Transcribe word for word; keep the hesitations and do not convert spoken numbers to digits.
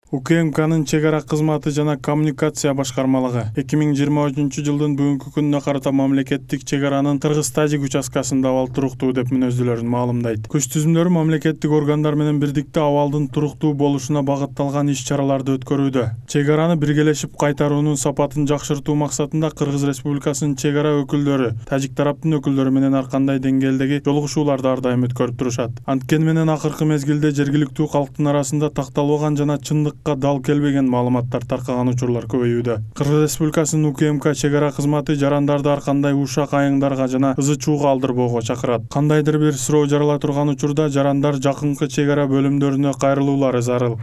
УКМКнын чек ара кызматы жана коммуникация башкармалыгы эки миң жыйырма үчүнчү жылдын бүгүнкү күнүнө карата мамлекеттик чек аранын Кыргыз-Тажик участкасында абал туруктуу деп мүнөздүүлөрүн маалымдайт. Күч түзүмдөрү мамлекеттик органдар менен бирдикте абалдын туруктуу болушуна багытталган иш-чараларды өткөрүүдө. Чек араны биргелешип кайтаруунун сапатын жакшыртуу максатында Кыргыз Республикасынын чек ара өкүлдөрү Тажик тараптын өкүлдөрү менен ар кандай деңгээлдеги жолугушууларды ар дайым өткөрүп турушат. Анткени менен акыркы мезгилде жергиликтүү калктын арасында такталбаган жана чындык дал келбеген маалыматтар таркаган учурлар көбөйүүдө. Кыргыз Республикасынын УКМК чек ара кызматы жарандарды ар кандай ушак айыңдарга жана ызы-чууга алдырбоого чакырат. Кандайдыр бир суроо жарала турган учурда жарандар жакынкы чек ара бөлүмдөрүнө кайрылуулары зарыл.